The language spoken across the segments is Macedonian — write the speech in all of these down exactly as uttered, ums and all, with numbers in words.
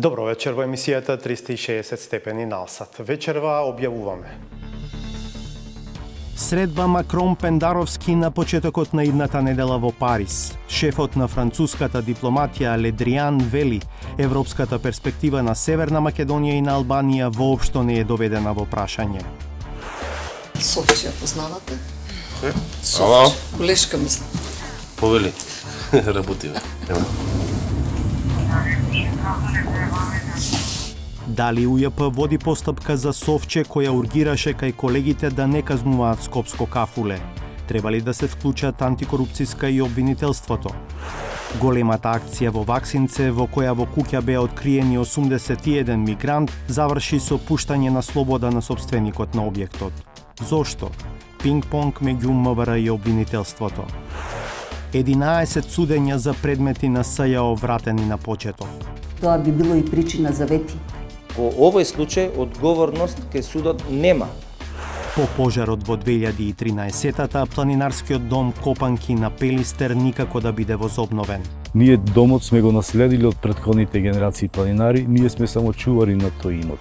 Добро вечер во емисијата триста и шеесет степени на Алсат. Вечерва објавуваме. Средба Макрон-Пендаровски на почетокот на идната недела во Париз. Шефот на француската дипломатија Le Drian вели, европската перспектива на Северна Македонија и на Албанија воопшто не е доведена во прашање. Совче ја познавате? Е? Совче. Колешка мислам. Повели. Работи. Дали У Ј П води постапка за Совче која ургираше кај колегите да не казнуваат скопско кафуле? Треба ли да се вклучат антикорупцијска и обвинителството? Големата акција во Ваксинце, во која во куќа беа откриени осумдесет и еден мигрант, заврши со пуштање на слобода на собственикот на објектот. Зошто? Пинг-понг меѓу М В Р и обвинителството. единаесет судења за предмети на С Ј О вратени на почеток. Тоа би било и причина за вети. Во овој случај одговорност кај судот нема. По пожарот во две илјади и тринаесеттата планинарскиот дом Копанки на Пелистер никако да биде возобновен. Ние домот сме го наследили од претходните генерации планинари, ние сме само чувари на тој имот.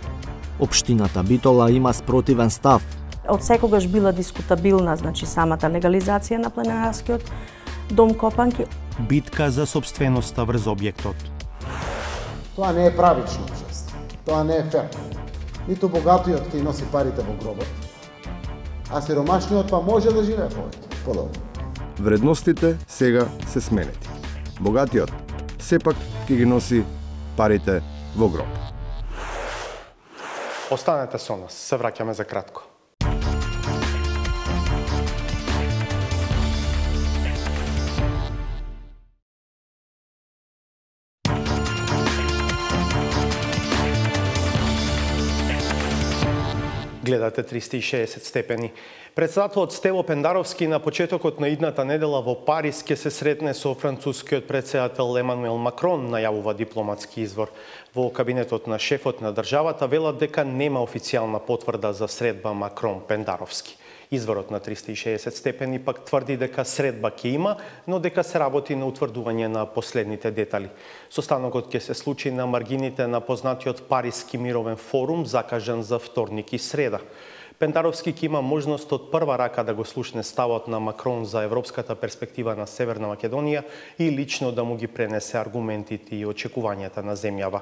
Општината Битола има спротивен став. Од секогаш била дискутабилна, значи самата легализација на планинарскиот дом Копанки. Битка за собственоста врз објектот. Тоа не е правично учество. Тоа не е фер. Ниту богатиот ќе носи парите во гробот, а сиромашниот па може да живее повеќе, подолго. Вредностите сега се сменети. Богатиот сепак ќе ги носи парите во гроб. Останете со нас, се враќаме за кратко. Гледате триста и шеесет степени. Председателот Стево Пендаровски на почетокот на идната недела во Париз ќе се сретне со францускиот председател Емануел Макрон, најавува дипломатски извор. Во кабинетот на шефот на државата велат дека нема официјална потврда за средба Макрон-Пендаровски. Изворот на триста и шеесет степени пак тврди дека средба ќе има, но дека се работи на утврдување на последните детали. Состанокот ќе се случи на маргините на познатиот Париски мировен форум, закажан за вторник и среда. Пендаровски ќе има можност од прва рака да го слушне ставот на Макрон за европската перспектива на Северна Македонија и лично да му ги пренесе аргументите и очекувањата на земјава.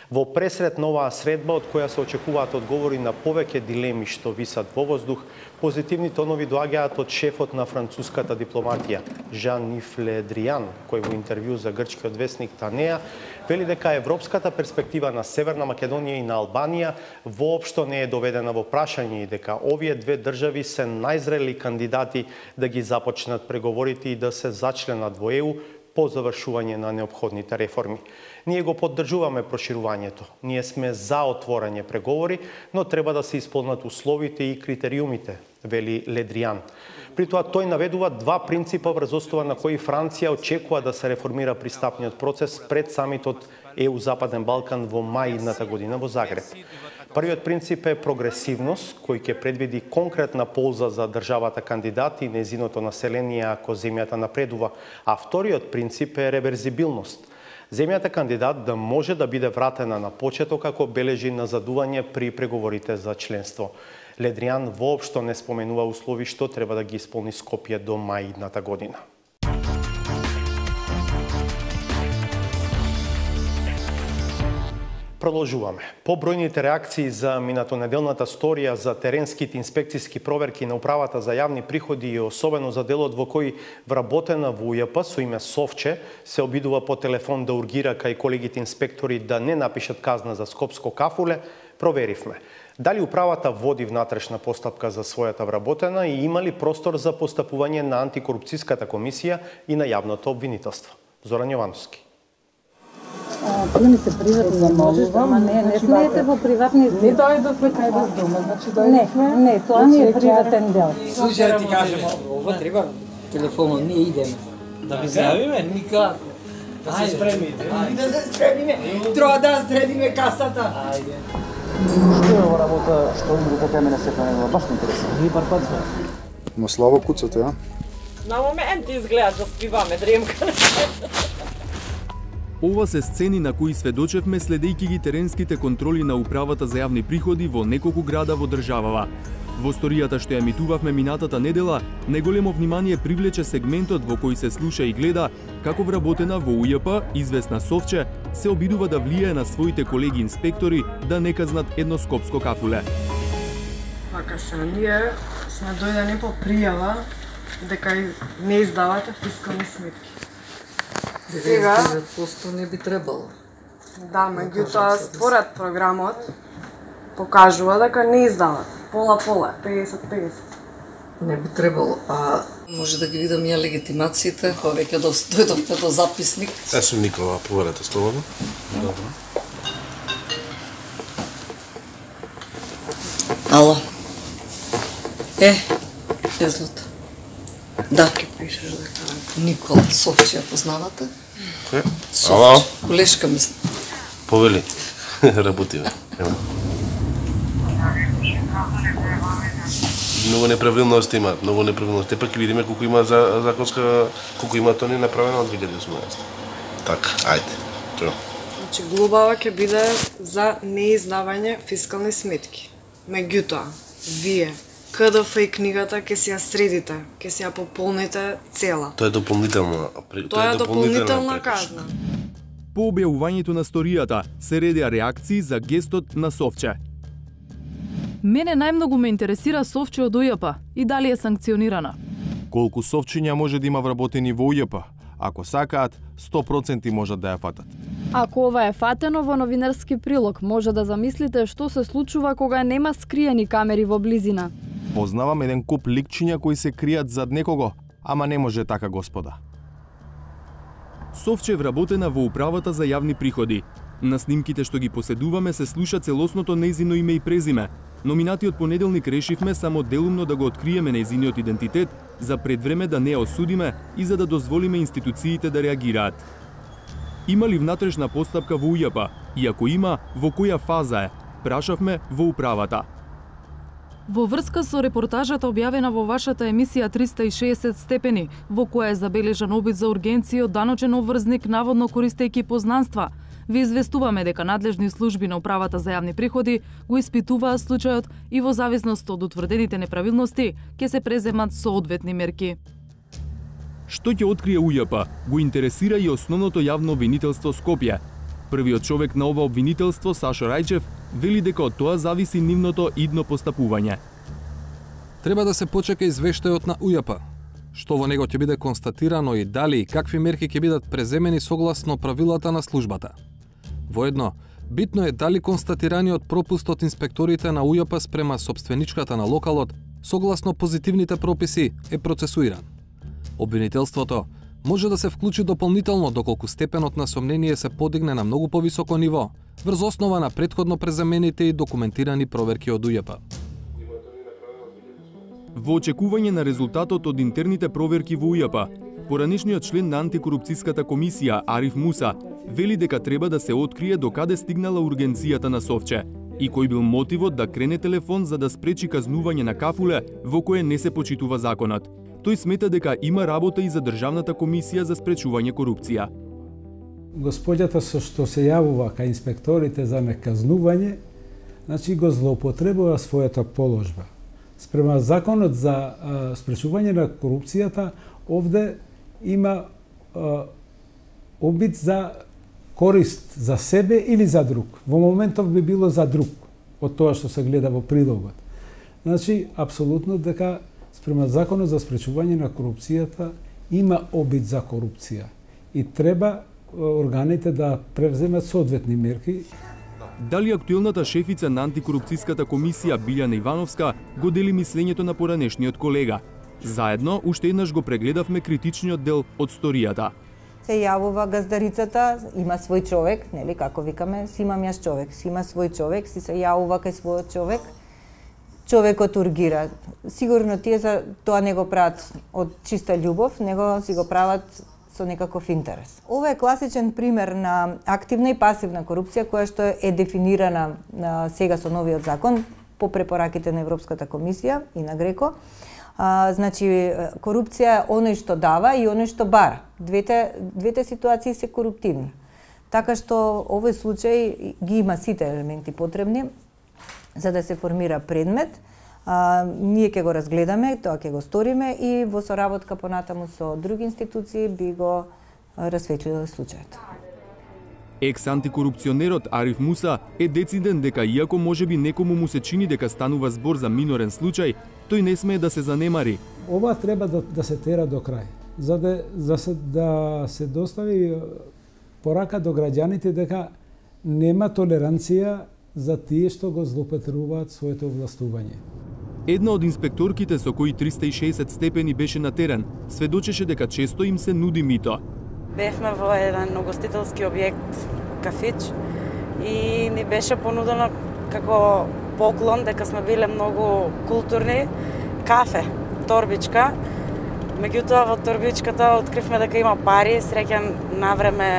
Во пресред на оваа средба, од која се очекуваат одговори на повеќе дилеми што висат во воздух, позитивни тонови доаѓаат од шефот на француската дипломатија, Жан-Йves Le Drian, кој во интервју за грчкиот весник Танеа вели дека европската перспектива на Северна Македонија и на Албанија воопшто не е доведена во прашање и дека овие две држави се најзрели кандидати да ги започнат преговорите и да се зачленат во Е У по завршување на неопходните реформи. Ние го поддржуваме проширувањето. Ние сме за отворање преговори, но треба да се исполнат условите и критериумите, вели Le Drian. При тоа тој наведува два принципа врз основа на кои Франција очекува да се реформира пристапниот процес пред самитот Е У Западен Балкан во мај идната година во Загреб. Првиот принцип е прогресивност, кој ќе предвиди конкретна полза за државата кандидат и незиното население ако земјата напредува, а вториот принцип е реверзибилност. Земјата кандидат да може да биде вратена на почеток ако бележи назадување при преговорите за членство. Le Drian воопшто не споменува услови што треба да ги исполни Скопје до мај идната година. Продолжуваме. Побројните реакции за минатонеделната сторија за теренските инспекциски проверки на Управата за јавни приходи и особено за делот во кој вработена во У Ј П со име Совче се обидува по телефон да ургира кај колегите инспектори да не напишат казна за скопско кафуле, проверивме. Дали управата води внатрешна постапка за својата вработена и има ли простор за постапување на антикорупцијската комисија и на јавното обвинителство? Зоран Јовановски. Приемите приватни не можеш, ама не, не смеете во приватни... Не дојдовме кај вас дома, значи дојдовме... Не, не, тоа не е приватен дел. Слушај, да ти кажем, ова треба телефонот, ние идеме. Да ви зајавиме? Никако. Да се спремите. Да се спремиме. Треба да средиме касата. Ајде. Што е ова работа, што им го така мене сепа не баш ме интересува. Ние пар пат сме. Ма слабо куцате, а? На момент изгледа да спиваме дремка. Ова се сцени на кои сведочевме следејќи ги теренските контроли на Управата за јавни приходи во неколку града во државава. Во сторијата што ја емитувавме минатата недела, најголемо внимание привлече сегментот во кој се слуша и гледа како вработена во У Ј П, известна Совче, се обидува да влијае на своите колеги инспектори да не казнат едно скопско кафуле. Вака се, ние сме дојдени по пријава дека не издавате фискални сметки. Сега деветдесет проценти не би требало. Да, меѓутоа според програмот покажува дека не издават. Пола-пола, педесет педесет. Не би требало. А може да ги видам ја легитимациите, кога веќе дојдовте до записник. Јас сум Никола, проверете слободно. Добро. Ало. Е, е злата. Да. Ке пишеш дека Никола, Совче, ја познавате? Кој? Ало. Колешка мислам. Повели. Работи, бе. Многу неправилност имаат, многу неправилност. Тепак ќе видиме колку има за законска, колку има тони направено од две илјади и осумнаесета. Така, ајде. Тоа. Значи глобава ќе биде за неиздавање фискални сметки. Меѓутоа, вие К Д Ф и книгата ќе си ја средите, ќе си ја пополните цела. Тоа е дополнителна, тоа е дополнителна казна. По објавувањето на сторијата се редеа реакции за гестот на Совче. Мене најмногу ме интересира Совче од У Ј П и дали е санкционирана. Колку совчиња може да има вработени во У Ј П? Ако сакаат, сто проценти можат да ја фатат. Ако ова е фатено во новинарски прилог, може да замислите што се случува кога нема скриени камери во близина. Познавам еден куп ликчиња кои се кријат зад некого, ама не може така, господа. Совче вработена во Управата за јавни приходи. На снимките што ги поседуваме се слуша целосното нејзино име и презиме. Но минатиот понеделник решивме само делумно да го откриеме нејзиниот идентитет, за предвреме да не ја осудиме и за да дозволиме институциите да реагираат. Има ли внатрешна постапка во У Ј П? И ако има, во која фаза е? Прашавме во управата. Во врска со репортажата објавена во вашата емисија триста и шеесет степени, во која е забележан обид за ургенција од даночен обврзник наводно користејќи познанства, ви известуваме дека надлежни служби на Управата за јавни приходи го испитуваат случајот и во зависност од утврдените неправилности ќе се преземат соодветни мерки. Што ќе открие У Ј П го интересира и основното јавно обвинителство Скопје. Првиот човек на ова обвинителство, Сашо Рајчев, вели дека од тоа зависи нивното идно постапување. Треба да се почека извештајот на У Ј П, што во него ќе биде констатирано и дали и какви мерки ќе бидат преземени согласно правилата на службата. Воедно, битно е дали констатираниот пропуст од инспекторите на У Ј П спрема собственичката на локалот, согласно позитивните прописи, е процесуиран. Обвинителството може да се вклучи дополнително доколку степенот на сомнение се подигне на многу повисоко ниво, врз основа на претходно презамените и документирани проверки од У Ј П. Во очекување на резултатот од интерните проверки во У Ј П, поранешниот член на антикорупцијската комисија Ариф Муса вели дека треба да се открие до каде стигнала ургенцијата на Совче и кој бил мотивот да крене телефон за да спречи казнување на кафуле во кое не се почитува законот. Тој смета дека има работа и за Државната комисија за спречување корупција. Господјата со што се јавува кај инспекторите за неказнување, значи го злоупотребува својата положба. Спрема законот за а, спречување на корупцијата, овде има а, обид за корист за себе или за друг. Во моментов би било за друг, од тоа што се гледа во прилогот. Значи, апсолутно дека спрема законот за спречување на корупцијата има обид за корупција и треба органите да превземат соодветни мерки. Дали актуелната шефица на антикорупцијската комисија Билјана Ивановска го дели мислењето на поранешниот колега? Заедно, уште еднаш го прегледавме критичниот дел од сторијата. Се јавува газдарицата, има свој човек, нели, како викаме, си имам јас човек, си има свој човек, си се јавува кај својот човек, човекот ургира. Сигурно тие за тоа не го прават од чиста љубов, него си го прават со некаков интерес. Ова е класичен пример на активна и пасивна корупција која што е дефинирана на сега со новиот закон по препораките на Европската комисија и на Греко. А, значи, корупција е оној што дава и оној што бара. Двете, двете ситуации се коруптивни. Така што овој случај ги има сите елементи потребни за да се формира предмет. А, ние ќе го разгледаме, тоа ќе го сториме и во соработка понатаму со други институции би го расветлиле случајот. Екс-антикорупционерот Ариф Муса е дециден дека иако можеби некому му се чини дека станува збор за минорен случај, тој не смее да се занемари. Ова треба да, да се тера до крај, за да, за се, да се достави порака до граѓаните дека нема толеранција за тие што го злоупотребуваат своето властување. Една од инспекторките со кои триста и шеесет степени беше на терен, сведочеше дека често им се нуди мито. Бевме во еден угостителски објект, кафич, и ни беше понудено како поклон, дека сме биле многу културни, кафе, торбичка. Меѓутоа во торбичката откривме дека има пари, среќен навреме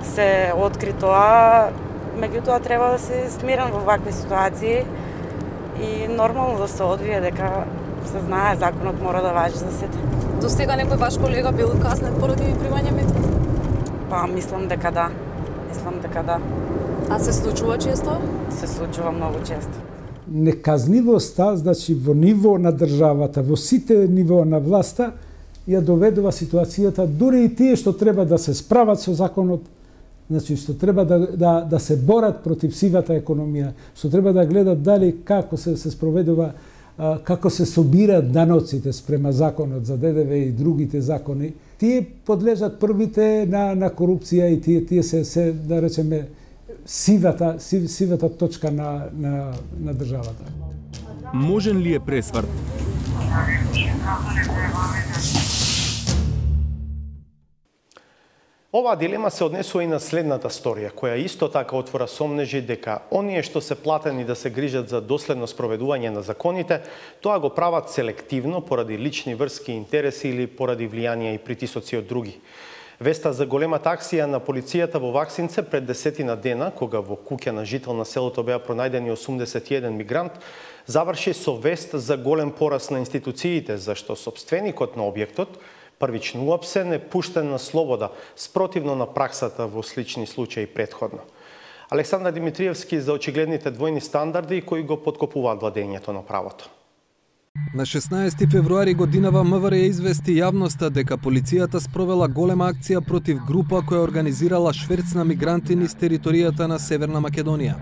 се откри тоа. Меѓутоа треба да се смирен во вакви ситуации и нормално да се одвие дека се знае законот мора да важи за сите. До сега некој ваш колега бил казнет поради примање мито? Па, мислам дека да. Мислам дека да. А се случува често? Се случува многу често. Неказнивоста, значи во ниво на државата, во сите ниво на власта, ја доведува ситуацијата, дури и тие што треба да се справат со законот, значи што треба да, да, да се борат против сивата економија, што треба да гледат дали како се, се спроведува, како се собираат даноците спрема законот за ДДВ и другите закони, тие подлежат првите на, на корупција и тие, тие се, се, да речеме, сивата, сив, сивата точка на, на, на државата. Можен ли е пресврт? Оваа дилема се однесува и на следната сторија, која исто така отвора сомнежи дека оние што се платени да се грижат за доследно спроведување на законите, тоа го прават селективно поради лични врски и интереси или поради влијанија и притисоци од други. Веста за големата акција на полицијата во Ваксинце пред десетина дена, кога во куќа на жител на селото беа пронајдени осумдесет и еден мигрант, заврши со вест за голем пораст на институциите, зашто собственикот на објектот првично уапсен е пуштен на слобода, спротивно на праксата во слични случаи претходно. Александар Димитриевски за очигледните двојни стандарди кои го поткопуваат владењето на правото. На шеснаесети февруари годинава МВР извести јавноста дека полицијата спровела голема акција против група која организирала шверц на мигранти низ територијата на Северна Македонија.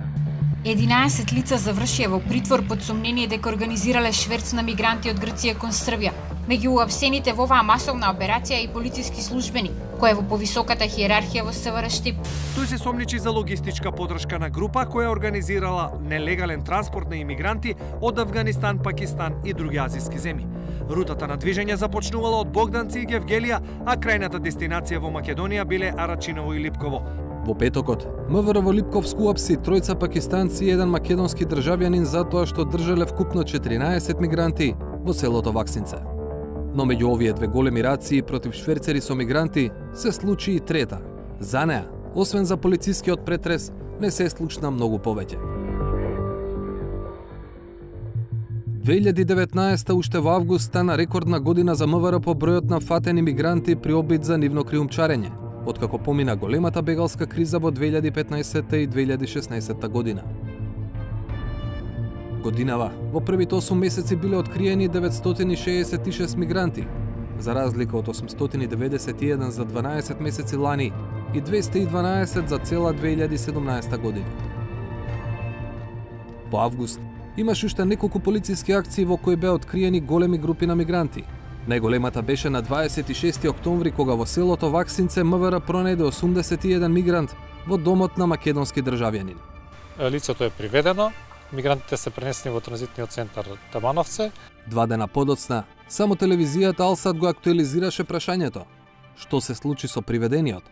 единаесет лица завршија во притвор под сомнение дека организирале шверц на мигранти од Грција кон Србија. Меѓу уапсените во оваа масовна операција и полициски службени, кој е во повисоката хиерархија во СВР Штип. Тој се сомничи за логистичка подршка на група која организирала нелегален транспорт на имигранти од Авганистан, Пакистан и други азиски земји. Рутата на движење започнувала од Богданци и Гевгелија, а крајната дестинација во Македонија биле Арачиново и Липково. Во петокот, МВР во Липковску уапси тројца пакистанци и еден македонски државјанин затоа што држале вкупно четиринаесет мигранти во селото Ваксинце. Но меѓу овие две големи рации против шверцери со мигранти се случи и трета. За неа, освен за полицискиот претрес, не се случна многу повеќе. две илјади и деветнаесета уште во август стана рекордна година за МВР по бројот на фатени мигранти при обид за нивно криумчарење, откако помина големата бегалска криза во две илјади и петнаесета и две илјади и шеснаесета година. Годинава, во првите осум месеци биле откриени деветстотини шеесет и шест мигранти, за разлика од осумстотини деведесет и еден за дванаесет месеци лани и двеста и дванаесет за цела две илјади и седумнаесета година. По август, имаше уште неколку полициски акции во кои беа откриени големи групи на мигранти. Најголемата беше на дваесет и шести октомври, кога во селото Ваксинце МВР пронајде осумдесет и еден мигрант во домот на македонски државјанин. Лицето е приведено, мигрантите се пренесени во транзитниот центар Табановце. Два дена подоцна, само телевизијата Алсат го актуализираше прашањето. Што се случи со приведениот?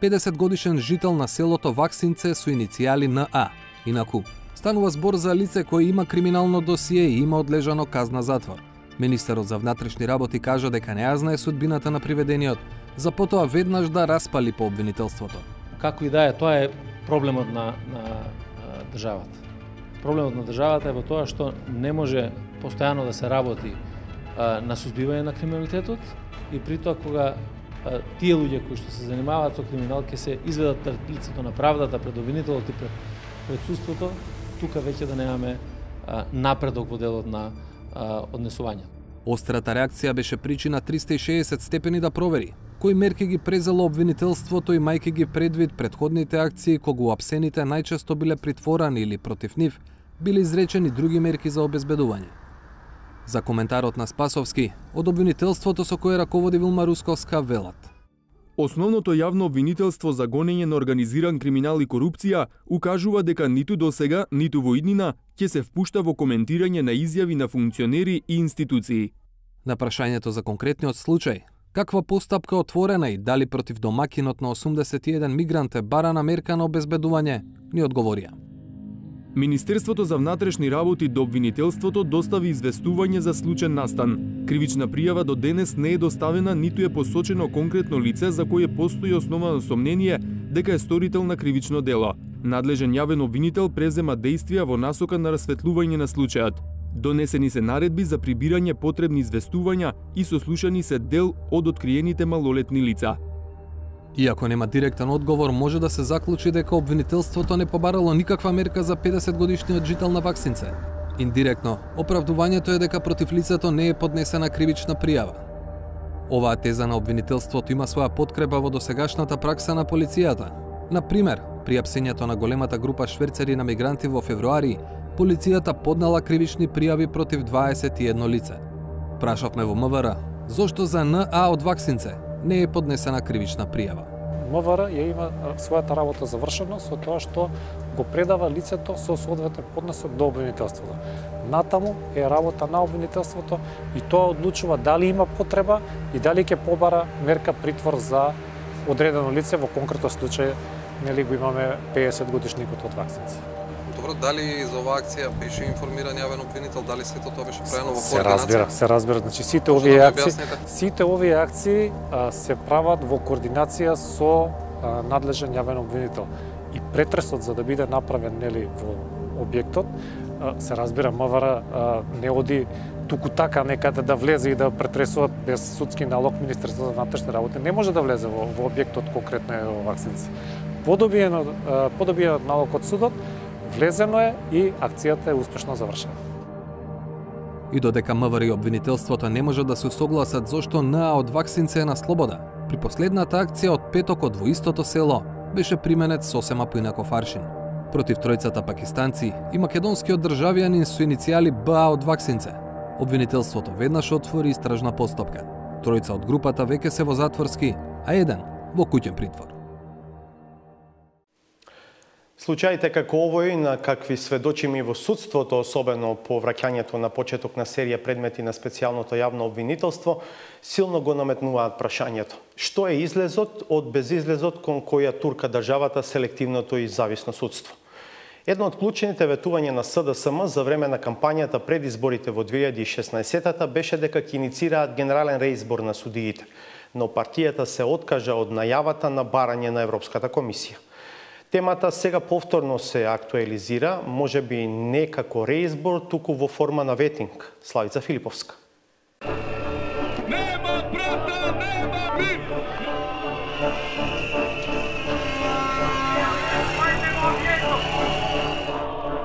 педесет годишен жител на селото Ваксинце со иницијали Н А. Инаку, станува збор за лице кој има криминално досие и има одлежано казна затвор. Министерот за внатрешни работи кажа дека не ја знае судбината на приведениот, за потоа веднаш да распали по обвинителството. Како и да е, тоа е проблемот на, на а, државата. Проблемот на државата е во тоа што не може постојано да се работи а, на сузбивање на криминалитетот и при тоа кога тие луѓе кои што се занимаваат со криминал ќе се изведат пред лицето на правдата, пред обвинителот и пред, пред судството, тука веќе да немаме а, напредок во делот на а, однесување. Острата реакција беше причина триста и шеесет степени да провери кои мерки ги презело обвинителството, имајќи ги предвид предходните акции кога уапсените најчесто биле притворани или против нив биле изречени други мерки за обезбедување. За коментарот на Спасовски, од обвинителството со кое раководи Вилма Русковска велат: Основното јавно обвинителство за гонење на организиран криминал и корупција укажува дека ниту досега, ниту во иднина ќе се впушта во коментирање на изјави на функционери и институции. На прашањето за конкретниот случај, каква постапка отворена и дали против домакинот на осумдесет и еден мигрант е барана мерка на обезбедување, ни одговорија: Министерството за внатрешни работи до обвинителството достави известување за случаен настан. Кривична пријава до денес не е доставена, ниту е посочено конкретно лице за кое постои основано сомнение дека е сторител на кривично дело. Надлежен јавен обвинител презема действија во насока на расветлување на случајот. Донесени се наредби за прибирање потребни известувања и сослушани се дел од откриените малолетни лица. Иако нема директен одговор, може да се заклучи дека обвинителството не побарало никаква мерка за педесет годишниот жител на Ваксинце. Индиректно, оправдувањето е дека против лицето не е поднесена кривична пријава. Оваа теза на обвинителството има своја подкрепа во досегашната пракса на полицијата. Например, при апсењето на големата група шверцери на мигранти во февруари, полицијата поднела кривични пријави против дваесет и едно лице. Прашавме во МВР, зошто за Н А од Ваксинце не е поднесена кривична пријава. МВР ја има својата работа завршена со тоа што го предава лицето со соодветен поднесок до обвинителството. Натаму е работа на обвинителството и тоа одлучува дали има потреба и дали ќе побара мерка притвор за одредено лице, во конкретно случај нели го имаме педесет годишникот од Ваксинци. Добро, дали за оваа акција беше информиран јавен обвинител, дали сето тоа беше правено во координација? Се разбира, се разбира. Значи сите овие да акции, сите овие акции а, се прават во координација со а, надлежен јавен обвинител. И претресот за да биде направен нели во објектот, а, се разбира МВР не оди туку така некаде да влезе и да претресува без судски налог. Министерството за внатрешни работи не може да влезе во, во објектот конкретно во Ваксинци. Подобиен подобиен налог од судот, влезено е и акцијата е успешно завршена. И додека МВР и обвинителството не може да се согласат зошто Н А од Ваксинце е на слобода, при последната акција од петокот во истото село беше применет сосема поинаков аршин. Против тројцата пакистанци и македонскиот државјанин со иницијали Б А од Ваксинце, обвинителството веднаш отвори истражна постапка. Тројца од групата веќе се во затворски, а еден во куќен притвор. Случаите како овој на какви сведочиме и во судството, особено по враќањето на почеток на серија предмети на специјалното јавно обвинителство, силно го наметнуваат прашањето. Што е излезот од безизлезот кон која турка државата селективното и зависно судство? Едно од клучните ветувања на С Д С М за време на кампањата пред изборите во две илјади и шеснаесетта беше дека ќе иницираат генерален реизбор на судиите, но партијата се откажа од најавата на барање на Европската комисија. Темата сега повторно се актуализира, може би не како реизбор, туку во форма на ветинг. Славица Филиповска. Нема брата, нема бив!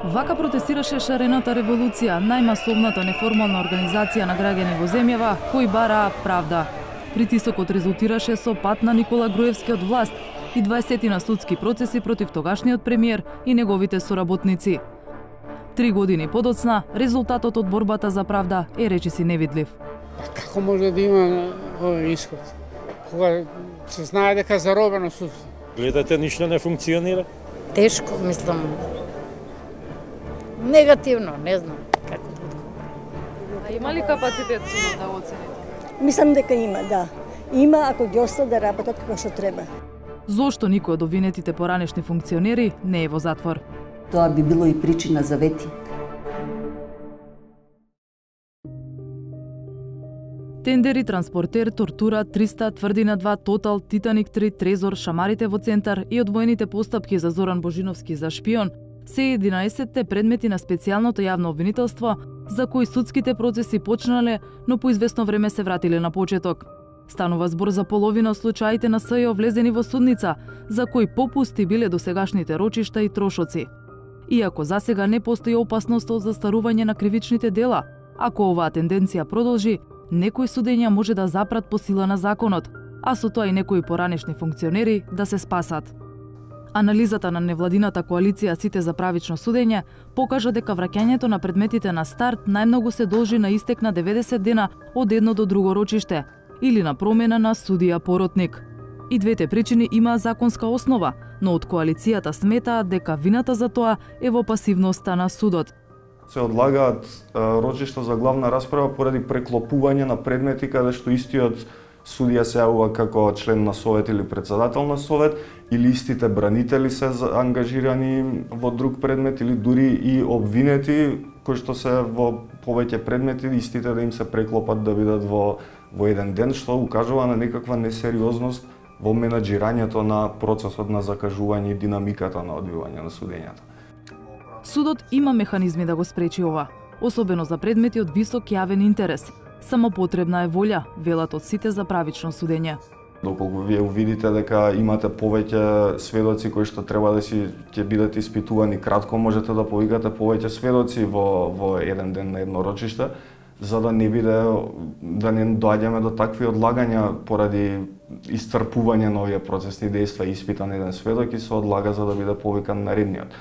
Вака протестираше шарената револуција, најмасовната неформална организација на граѓани во земјава кои бараа правда. Притисокот резултираше со пат на Никола Груевски од власт и дваесет судски процеси против тогашниот премиер и неговите соработници. Три години подоцна, резултатот од борбата за правда е речиси невидлив. Како може да има овој исход? Кога се знае дека заробено судство? Гледате, ништо не функционира? Тешко, мислам. Негативно, не знам како да одговорам. А има ли капацитет судот да оцени? Мислам дека има, да. Има ако ги остават да работат како што треба. Зошто никој од обвинетите поранешни функционери не е во затвор? Тоа би било и причина за ветинг. Тендери, транспортер, тортура, триста, Тврдина два, Тотал, Титаник три, Трезор, Шамарите во центар и одвоените постапки за Зоран Божиновски за шпион се единаесетте предмети на специјалното јавно обвинителство за кои судските процеси почнале, но по известно време се вратиле на почеток. Станува збор за половина од случаите на СЈО влезени во судница, за кои попусти биле досегашните рочишта и трошоци. Иако засега не постои опасност од застарување на кривичните дела, ако оваа тенденција продолжи, некои судења може да запрат по сила на законот, а со тоа и некои поранешни функционери да се спасат. Анализата на невладината коалиција Сите за правично судење покажа дека враќањето на предметите на старт најмногу се должи на истек на деветдесет дена од едно до друго рочиште или на промена на судија поротник. И двете причини имаа законска основа, но од коалицијата сметаат дека вината за тоа е во пасивноста на судот. Се одлагаат рочишта за главна расправа поради преклопување на предмети каде што истиот судија се јавува како член на совет или председател на совет, или истите бранители се ангажирани во друг предмет, или дури и обвинети кои што се во повеќе предмети, истите да им се преклопат да бидат во, во еден ден, што укажува на некаква несериозност во менаџирањето на процесот на закажување и динамиката на одвивање на судењата. Судот има механизми да го спречи ова, особено за предмети од висок јавен интерес. Само потребна е волја, велат од Сите за правично судење. Доколку вие увидите дека имате повеќе сведоци кои што треба да си ќе бидат испитувани кратко, можете да повикате повеќе сведоци во во еден ден на едно рочиште, за да не биде да не доаѓаме до такви одлагања поради исцрпување на овие процесни дејства и испитан еден сведок и се одлага за да биде повикан наредниот.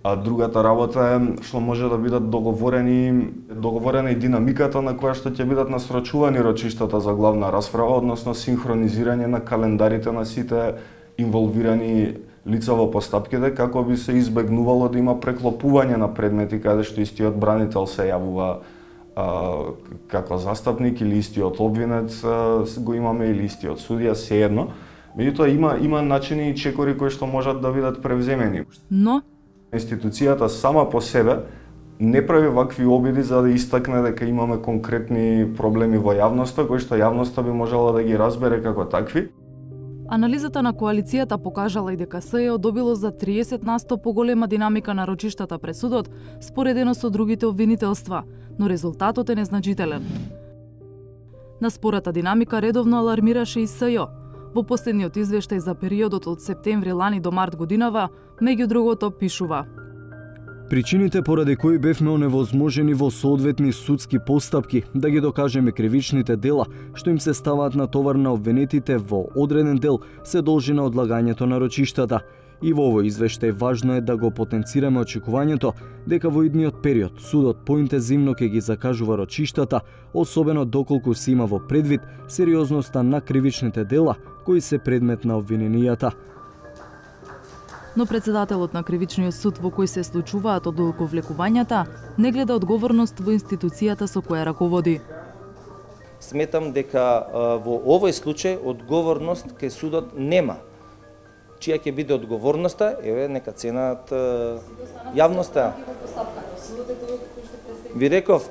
А другата работа е што може да бидат договорени договорена и динамиката на која што ќе бидат насрочувани рочиштата за главна расправа, односно синхронизирање на календарите на сите инволвирани лица во постапките, како би се избегнувало да има преклопување на предмети каде што истиот бранител се јавува а, како застапник или истиот обвинет а, го имаме или истиот судија, сеедно. Меѓутоа има има начини и чекори кои што можат да бидат превземени. Но институцијата сама по себе не прави вакви обиди за да истакне дека имаме конкретни проблеми во јавноста, кои што јавноста би можела да ги разбере како такви. Анализата на коалицијата покажала и дека СЈО добило за триесет на сто поголема динамика на рочиштата пред судот, споредено со другите обвинителства, но резултатот е незначителен. На спората динамика редовно алармираше и СЈО. Во последниот извештај за периодот од септември лани до март годинава, меѓу другото пишува: Причините поради кои бевме оневозможени во соодветни судски постапки да ги докажеме кривичните дела што им се ставаат на товар на обвинетите во одреден дел се должи на одлагањето на рочиштата. И во овој извештај важно е да го потенцираме очекувањето дека во идниот период судот поинтензивно ќе ги закажува рочиштата, особено доколку се има во предвид сериозноста на кривичните дела кои се предмет на обвиненијата. Но председателот на Кривичниот суд во кој се случуваат одолговлекувањата не гледа одговорност во институцијата со која раководи. Сметам дека во овој случај одговорност кај судот нема. Чија ќе биде одговорноста, еве нека ценат јавноста. Ви реков,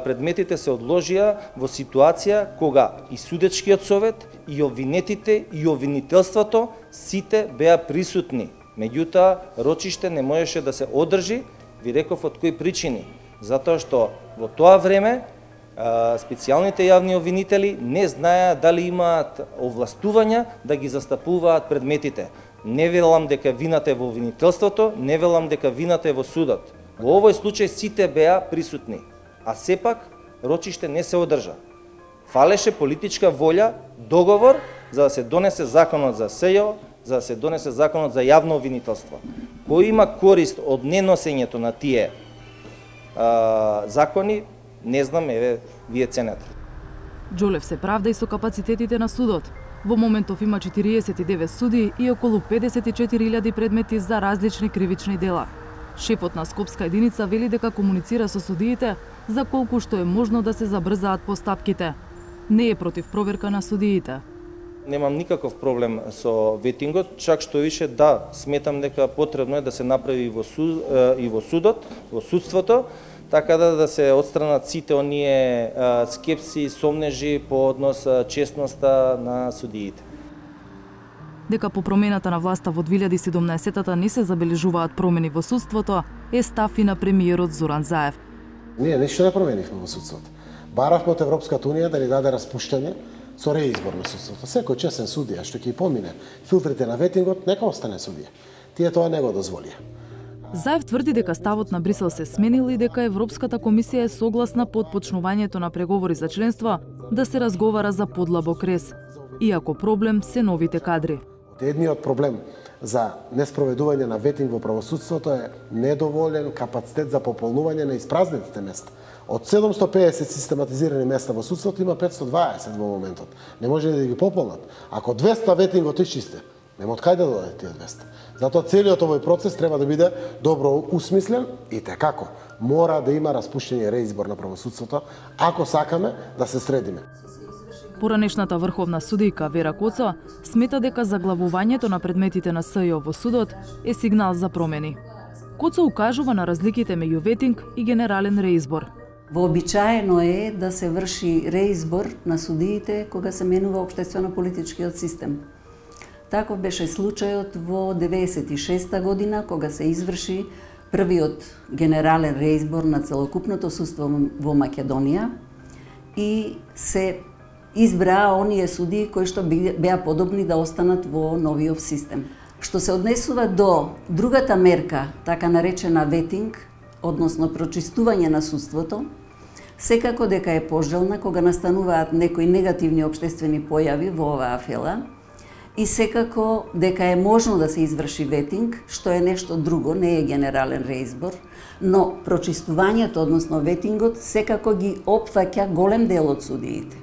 предметите се одложија во ситуација кога и судечкиот совет, и обвинетите, и обвинителството сите беа присутни. Меѓутоа, рочиште не можеше да се одржи, ви реков од кои причини. Затоа што во тоа време специјалните јавни обвинители не знаеа дали имаат овластувања да ги застапуваат предметите. Не велам дека вината е во обвинителството, не велам дека вината е во судот. Во овој случај сите беа присутни, а сепак рочиште не се одржа. Фалеше политичка волја, договор за да се донесе законот за СЈО, за да се донесе законот за јавно обвинителство. Кој има корист од неносењето на тие а, закони, не знам, еве, вие ценете. Џолев се правда и со капацитетите на судот. Во моментов има четириесет и девет суди и околу педесет и четири илјади предмети за различни кривични дела. Шефот на Скопска единица вели дека комуницира со судиите за колку што е можно да се забрзаат постапките. Не е против проверка на судиите. Немам никаков проблем со ветингот, чак што више да, сметам дека потребно е да се направи и во, суд, и во судот, во судството, така да, да се отстранат сите оние скепси, сомнежи по однос честноста на судиите. Дека по промената на власта во две илјади и седумнаесетта не се забележуваат промени во судството, е став и на премиерот Зоран Заев. Ние ништо не променивме во судството. Баравме од Европската унија да ни даде распуштање со реизбор на судството. Секој честен судија што ќе помине филтрите на ветингот, нека остане судија. Тие тоа не го дозволија. Заев тврди дека ставот на Брисел се сменил и дека Европската комисија е согласна под почнувањето на преговори за членство да се разговара за подлабок рез. Иако проблем се новите кадри. Едниот проблем за неспроведување на ветинг во правосудството е недоволен капацитет за пополнување на испразнетите места. Од седумсто и педесет систематизирани места во судството има петстотини и дваесет во моментот. Не може да ги пополнат. Ако двеста ветингот исчисте, нема од кај да дојдат тие двеста. Затоа целиот овој процес треба да биде добро усмислен и те како мора да има распуштање реизбор на правосудството ако сакаме да се средиме. Поранешната врховна судијка Вера Коцо смета дека заглавувањето на предметите на СЈО во судот е сигнал за промени. Коцо укажува на разликите меѓу ветинг и генерален реизбор. Вообичаено е да се врши реизбор на судиите кога се менува општествено-политичкиот систем. Таков беше случајот во деветдесет и шеста година, кога се изврши првиот генерален реизбор на целокупното судство во Македонија и се избраа оние судии кои што беа подобни да останат во новиот систем. Што се однесува до другата мерка, така наречена ветинг, односно прочистување на судството, секако дека е пожелна кога настануваат некои негативни општествени појави во оваа афела и секако дека е можно да се изврши ветинг, што е нешто друго, не е генерален реизбор, но прочистувањето, односно ветингот, секако ги опфаќа голем дел од судиите.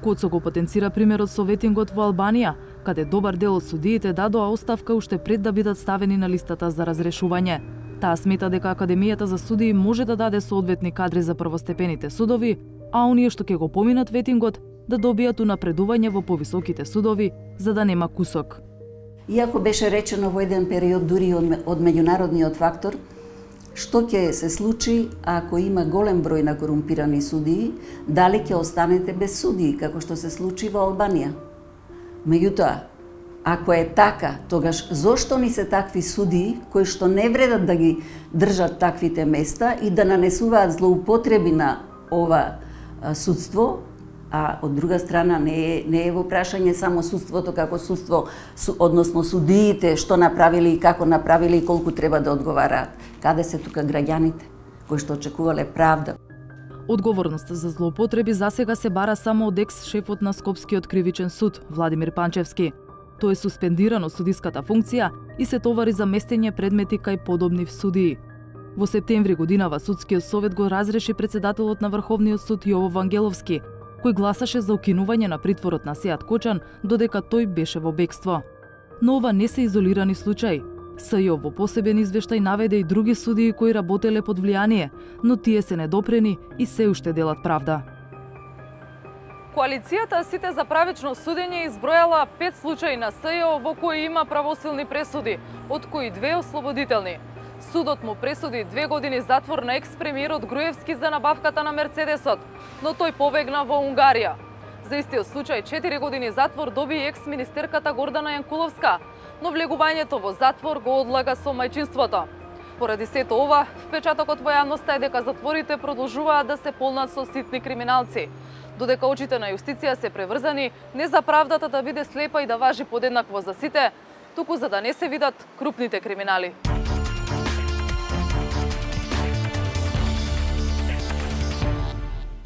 Коцо го потенцира примерот со ветингот во Албанија, каде добар дел од судиите дадоа оставка уште пред да бидат ставени на листата за разрешување. Таа смета дека Академијата за судии може да даде соодветни кадри за првостепените судови, а оние што ќе го поминат ветингот да добијат унапредување во повисоките судови, за да нема кусок. Иако беше речено во еден период дури од меѓународниот фактор, што ќе се случи ако има голем број на корумпирани судии, дали ќе останете без судии, како што се случи во Албанија. Меѓутоа, ако е така, тогаш зошто ни се такви судии кои што не вредат да ги држат таквите места и да нанесуваат злоупотреби на ова судство, а од друга страна не е, не е во прашање само судството како судство, односно судиите што направили и како направили и колку треба да одговараат. Каде се тука граѓаните кои што очекувале правда? Одговорноста за злоупотреби засега се бара само од екс-шефот на Скопскиот кривичен суд, Владимир Панчевски. Тој е суспендиран од судиската функција и се товари за местење предмети кај подобни судии. Во септември годинава Судскиот совет го разреши председателот на Врховниот суд Јово Вангеловски, кој гласаше за укинување на притворот на Сеат Кочан додека тој беше во бегство. Но ова не се изолирани случаи. СЈО во посебен извештај наведе и други судии кои работеле под влијание, но тие се недопрени и се уште делат правда. Коалицијата Сите за правично судење избројала пет случаи на СЈО во кои има правосилни пресуди, од кои две ослободителни. Судот му пресуди две години затвор на екс-премиерот Груевски за набавката на Мерцедесот, но тој побегна во Унгарија. За истиот случај четири години затвор доби екс-министерката Гордана Јанкуловска, но влегувањето во затвор го одлага со мајчинството. Поради сето ова, впечатокот во јавноста е дека затворите продолжуваат да се полнат со ситни криминалци, додека очите на јустиција се преврзани не за правдата да биде слепа и да важи подеднакво за сите, туку за да не се видат крупните криминали.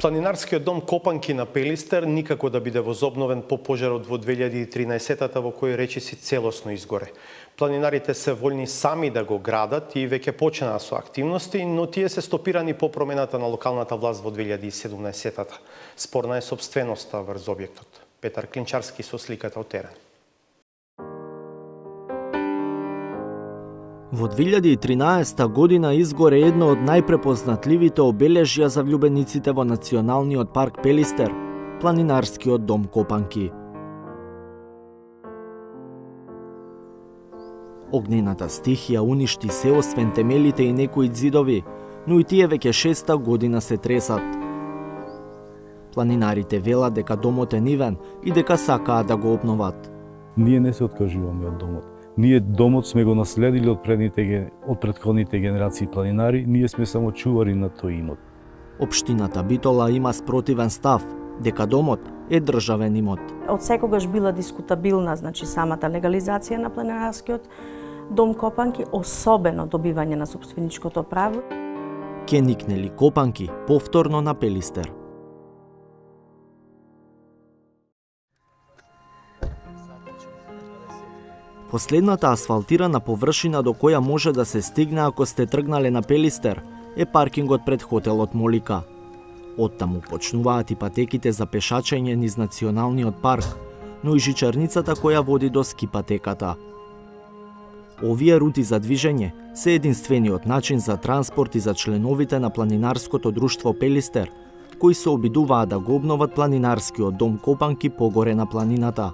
Планинарскиот дом Копанки на Пелистер никако да биде возобновен по пожарот во две илјади и тринаесета во кој речиси целосно изгоре. Планинарите се волни сами да го градат и веќе почнаа со активности, но тие се стопирани по промената на локалната власт во две илјади и седумнаесета. Спорна е сопственоста врз објектот. Петар Клинчарски со сликата од терен. Во две илјади и тринаесета година изгоре едно од најпрепознатливите обележја за влюбениците во Националниот парк Пелистер, Планинарскиот дом Копанки. Огнената стихија уништи се освен темелите и некои ѕидови, но и тие веќе шеста година се тресат. Планинарите велат дека домот е нивен и дека сакаат да го обноват. Ние не се откажуваме од домот. Ние домот сме го наследили од предните од претходните генерации планинари, ние сме само чувари на тој имот. Општината Битола има спротивен став, дека домот е државен имот. Од секогаш била дискутабилна, значи самата легализација на планинарскиот дом Копанки, особено добивање на сопственичкото право. Ке никнели Копанки повторно на Пелистер. Последната асфалтирана површина до која може да се стигне ако сте тргнале на Пелистер е паркингот пред хотелот Молика. Оттаму почнуваат и патеките за пешачење низ националниот парк, но и жичарницата која води до ски патеката. Овие рути за движење се единствениот начин за транспорт и за членовите на планинарското друштво Пелистер, кои се обидуваат да го обноват планинарскиот дом Копанки погоре на планината.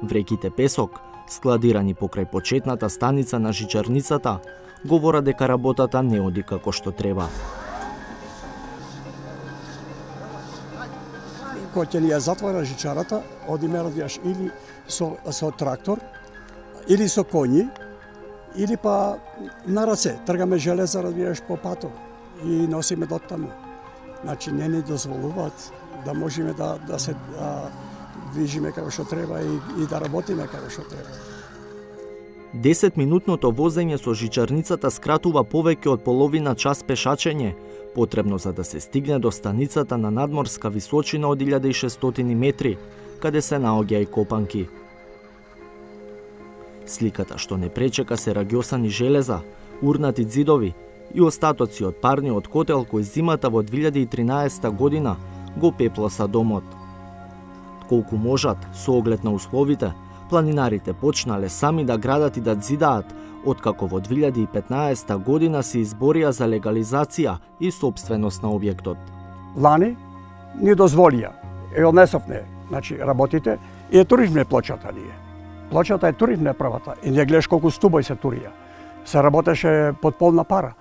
Вреките песок, складирани покрај почетната станица на жичарницата, говорат дека работата не оди како што треба. Кога ќе ни ја затвора жичарата, одиме радијаш или со, со трактор, или со коњи, или па на раце. Тргаме железа, радијаш, по патот и носиме до таму. Значи, не ни дозволуваат да можеме да, да се да движиме како што треба и, и да работиме како што треба. десетминутното возење со жичарницата скратува повеќе од половина час пешачење, потребно за да се стигне до станицата на надморска височина од илјада и шестстотини метри, каде се наоѓа и Копанки. Сликата што не пречека се рагјосани железа, урнати ѕидови и остатоци од парниот котел кој зимата во две илјади и тринаесетта година го пеплоса домот. Колку можат, со оглед на условите, планинарите почнале сами да градат и да ѕидаат, откако во две илјади и петнаесетта година се изборија за легализација и собственост на објектот. Лани ни дозволија, е однесовне, значи работите, и е туризмне плочата ние. Плочата е туризмне правата и не гледаш колку стубој се турија. Се работеше под полна пара.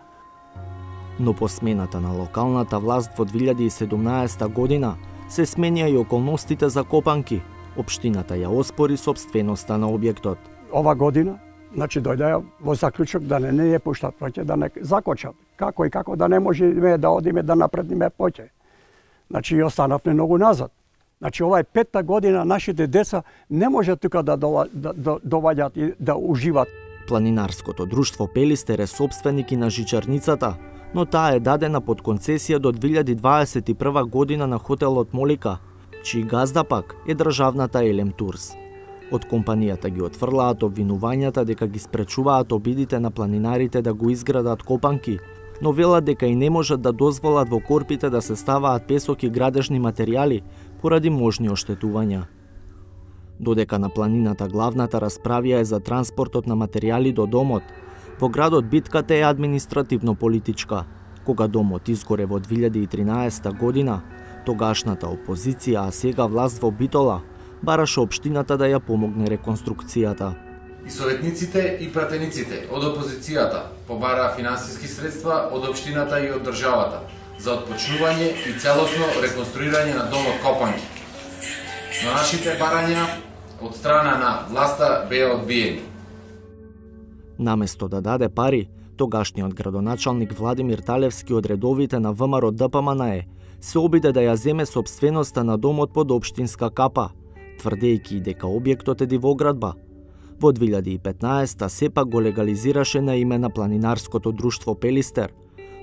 Но по смената на локалната власт во две илјади и седумнаесетта година се сменија и околностите за Копанки. Општината ја оспори собственоста на објектот. Ова година, значи дојдеа во заклучок да не не ја пуштат поќе, да не закочат. Како и како да не можеме да одиме да напредниме поќе. Значи и останавме многу назад. Значи ова е петта година, нашите деца не може тука да доваѓаат и да уживат. Планинарското друштво Пелистер е собственик и на жичарницата, но таа е дадена под концесија до две илјади дваесет и прва година на хотелот Молика, чиј газда пак е државната Елем Турс. Од компанијата ги отфрлаат обвинувањата дека ги спречуваат обидите на планинарите да го изградат Копанки, но велат дека и не можат да дозволат во корпите да се ставаат песок и градежни материјали поради можни оштетувања. Додека на планината главната расправија е за транспортот на материјали до домот, во градот битката е административно-политичка. Кога домот изгоре во две илјади и тринаесетта година, тогашната опозиција, а сега власт во Битола, бараше општината да ја помогне реконструкцијата. И советниците и пратениците од опозицијата побараа финансиски средства од општината и од државата за отпочнување и целосно реконструирање на домот Копанки. Но нашите барања од страна на власта беа одбиени. Наместо да даде пари, тогашниот градоначалник Владимир Талевски од редовите на ВМРО Д П М Н Е се обиде да ја земе собственоста на домот под општинска капа, тврдејќи дека објектот е дивоградба. Во две илјади и петнаесетта сепак го легализираше на име на планинарското друштво Пелистер,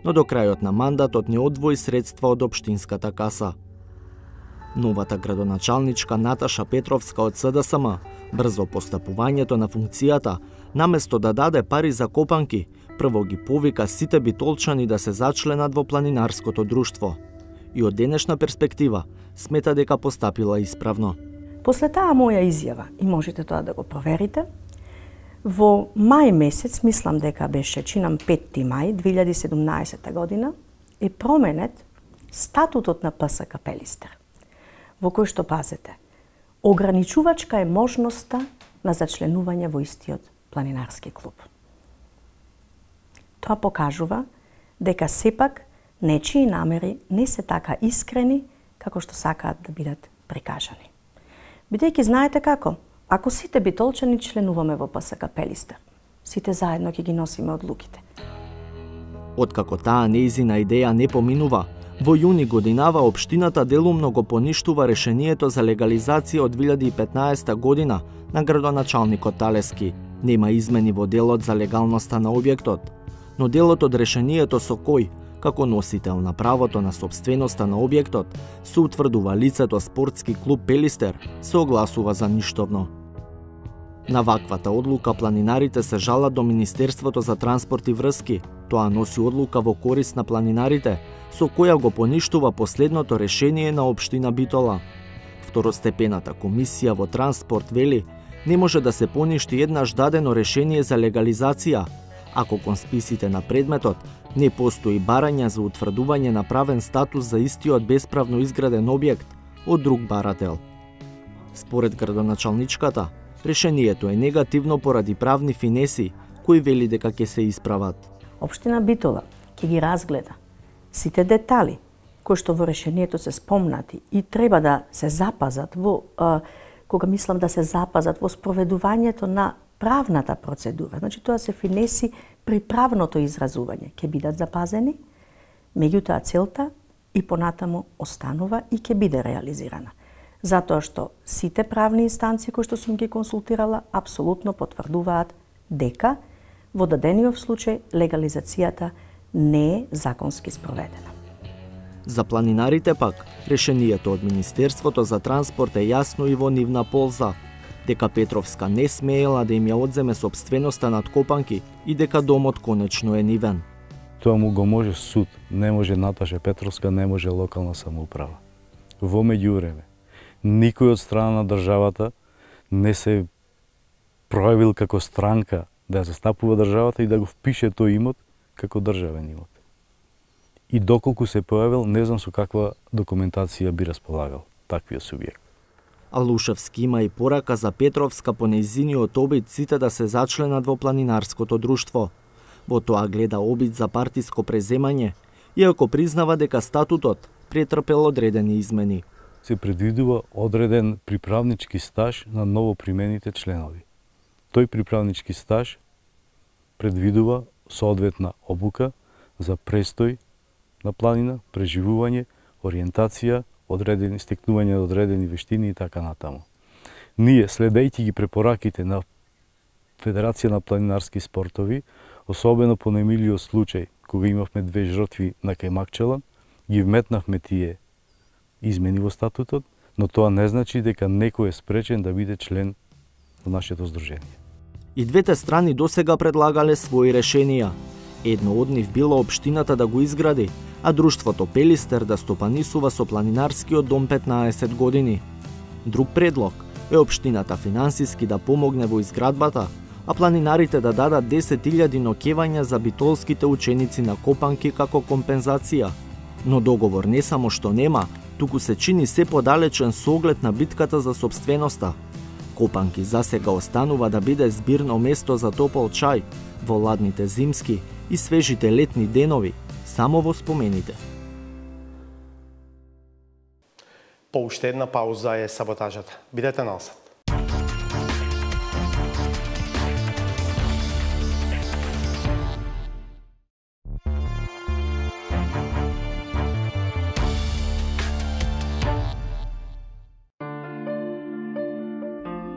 но до крајот на мандатот не одвои средства од општинската каса. Новата градоначалничка Наташа Петровска од С Д С М, брзо постапувањето на функцијата, наместо да даде пари за Копанки, прво ги повика сите битолчани да се зачленат во планинарското друштво. И од денешна перспектива смета дека постапила исправно. После таа моја изјава, и можете тоа да го проверите, во мај месец, мислам дека беше чинам петти мај две илјади и седумнаесетта година, е променет статутот на П С К Пелистер, во кој што, пазете, ограничувачка е можноста на зачленување во истиот планинарски клуб. Тоа покажува дека сепак нечии намери не се така искрени како што сакаат да бидат прикажани. Бидејќи знаете како, ако сите битолчани членуваме во П С К Пелистер, сите заедно ќе ги носиме одлуките. Откако таа нејзина идеја не поминува, Во јуни годинава општината делумно го поништува решението за легализација од две илјади и петнаесета година на градоначалникот Талески. Нема измени во делот за легалноста на објектот, но делот од решението со кој, како носител на правото на собственоста на објектот, се утврдува лицето спортски клуб Пелистер, се огласува за ништовно. На ваквата одлука планинарите се жалат до Министерството за транспорт и врски. Тоа носи одлука во корист на планинарите, со која го поништува последното решение на општина Битола. Второстепената комисија во транспорт вели, не може да се поништи еднаш дадено решение за легализација, ако кон списите на предметот не постои барање за утврдување на правен статус за истиот бесправно изграден објект од друг барател. Според градоначалничката, решението е негативно поради правни финеси, кои вели дека ќе се исправат. Општина Битола ќе ги разгледа сите детали кои што во решението се спомнати и треба да се запазат во а, кога мислам да се запазат во спроведувањето на правната процедура. Значи тоа се финеси при правното изразување ќе бидат запазени, меѓутоа целта и понатаму останува и ќе биде реализирана. Затоа што сите правни инстанции кои што сум ги консултирала апсолутно потврдуваат дека во дадениот случај легализацијата не е законски спроведена. За планинарите пак, решението од Министерството за транспорт е јасно и во нивна полза, дека Петровска не смеела да им ја одземе собственоста над Копанки и дека домот конечно е нивен. Тоа му го може суд, не може Наташа Петровска, не може локална самоуправа. Во меѓувреме, никој од страна на државата не се проявил како странка да ја застапува државата и да го впише тој имот како државен имот. И доколку се појавил, не знам со каква документација би располагал таквиот субјект. Алушевски има и порака за Петровска по нејзиниот обид сите да се зачленат во планинарското друштво. Во тоа гледа обид за партиско преземање, иако признава дека статутот претрпел одредени измени. Се предвидува одреден приправнички стаж на новопримените членови. Тој приправнички стаж предвидува соодветна обука за престој на планина, преживување, ориентација, одредени стекнување на одредени вештини и така натаму. Ние, следејќи ги препораките на Федерација на планинарски спортови, особено по немилиот случај, кога имавме две жртви на Кајмакчела, ги вметнавме тие измени во статутот, но тоа не значи дека некој е спречен да биде член во нашето здружение. И двете страни досега предлагале своји решенија. Едно од нив било општината да го изгради, а друштвото Пелистер да стопанисува со планинарскиот дом петнаесет години. Друг предлог е општината финансиски да помогне во изградбата, а планинарите да дадат десет илјади ноќевања за битолските ученици на Копанки како компензација. Но договор не само што нема, туку се чини се подалечен со оглед на битката за собственоста. Копанки засега останува да биде збирно место за топол чај во ладните зимски и свежите летни денови, само во спомените. По уште една пауза е саботажата. Бидете насад.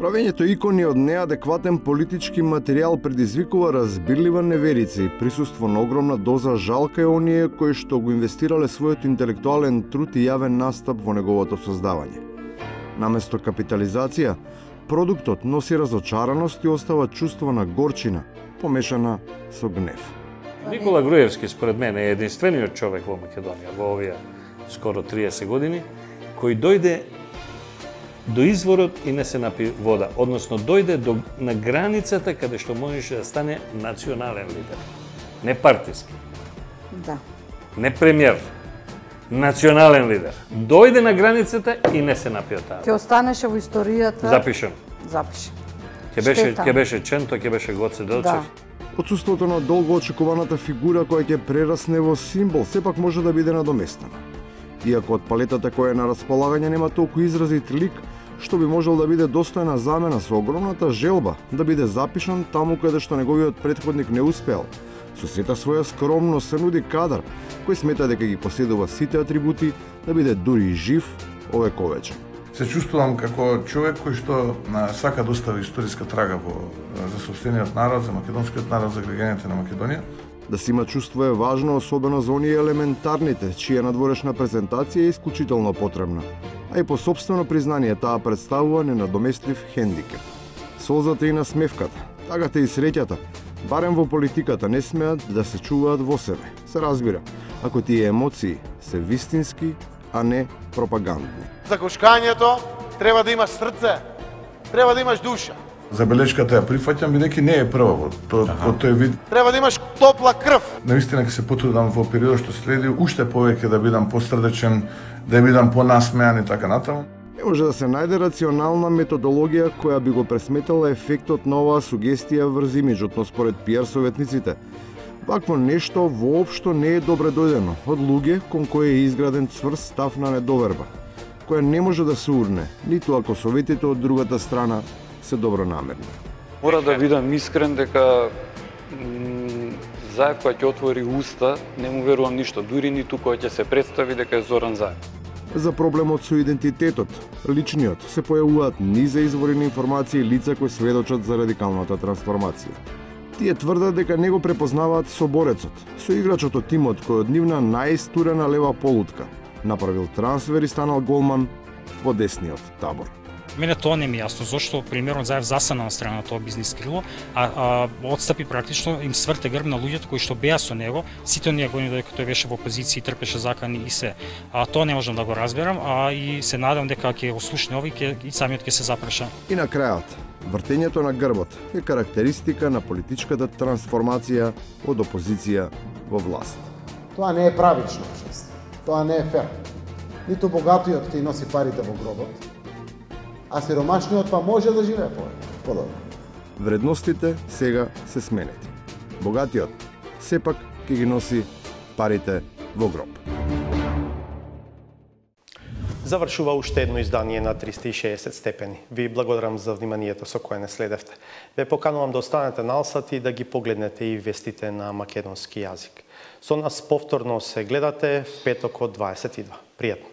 Правењето икони од неадекватен политички материјал предизвикува разбирлива неверица и присуство на огромна доза жалка е оние кои што го инвестирале својот интелектуален труд и јавен настап во неговото создавање. Наместо капитализација, продуктот носи разочараност и остава чувство на горчина, помешана со гнев. Никола Груевски, според мене, е единствениот човек во Македонија во овие скоро триесет години, кој дојде до изворот и не се напи вода, односно дојде до, на границата каде што можеше да стане национален лидер. Не партиски. Да. Не премиер. Национален лидер. Дојде на границата и не се напи од таа. Ќе останеше во историјата. Запишен. Запишен. Ќе беше ќе беше Ченто, ќе беше Гоце Делчев. Да. Отсуството на долго очекуваната фигура која ќе прерасне во символ сепак може да биде надоместена. Иако од палетата која е на располагање нема толку изразит лик, што би можел да биде достојна замена со огромната желба да биде запишан таму каде што неговиот претходник не успеал, со Со сета своја скромност се нуди кадар кој смета дека ги поседува сите атрибути да биде дури жив овековечен. Се чувствувам како човек кој што сака да остави историска трага во за сопствениот народ, за македонскиот народ, за граѓаните на Македонија. Да се има чувство е важно, особено за оние елементарните, чија надворешна презентација е исклучително потребна, а и по собствено признание таа представува ненадоместив хендикеп. Солзата и насмевката, тагата и среќата, барем во политиката не смеат да се чуваат во себе. Се разбира, ако тие емоции се вистински, а не пропагандни. За кошкањето треба да имаш срце, треба да имаш душа. Забелешката ја прифаќам, бидејќи не е прва во тој, во тој вид. Треба да имаш топла крв. Наистина ќе се потрудам во периодот што следи уште повеќе да бидам посрдечен, да бидам понасмеан и така натаму. Не може да се најде рационална методологија која би го пресметала ефектот на оваа сугестија врз имиджот, но според пиар советниците, вакво нешто воопшто не е добре дојдено од луѓе кон кои е изграден цврст став на недоверба, која не може да се урне, ниту ако советите од другата страна се добронамерни. Мора да бидам искрен дека Заев кога ќе отвори уста, не му верувам ништо, дури ниту кога ќе се представи дека е Зоран Заев. За проблемот со идентитетот, личниот, се појавуваат низа извори на информации и лица кои сведочат за радикалната трансформација. Тие тврдат дека не го препознаваат соборецот, со играчот од тимот кој од нивна најстурена лева полутка направил трансфер и станал голман во десниот табор. Мене тоа не ми е јасно, зашто примерно Заев засана на страна на тоа бизнис крило, а, а отстапи практично, им сврте грб на луѓето кои што беа со него, сите оние години додека тој беше во опозиција и трпеше закани и се. А тоа не можам да го разберам, а и се надам дека ќе ослушне овој и самиот ќе се запреша. И на крајот, вртењето на грбот е карактеристика на политичката трансформација од опозиција во власт. Тоа не е правично, тоа не е фер. Ниту богатиот ќе носи парите во гробот, а сиромашниот па може да живее подобро. Вредностите сега се сменети. Богатиот сепак ќе ги носи парите во гроб. Завршува уште едно издание на триста и шеесет степени. Ви благодарам за вниманието со кое не следевте. Ве поканувам да останете налсат и да ги погледнете и вестите на македонски јазик. Со нас повторно се гледате в петок од дваесет и два. Пријатно!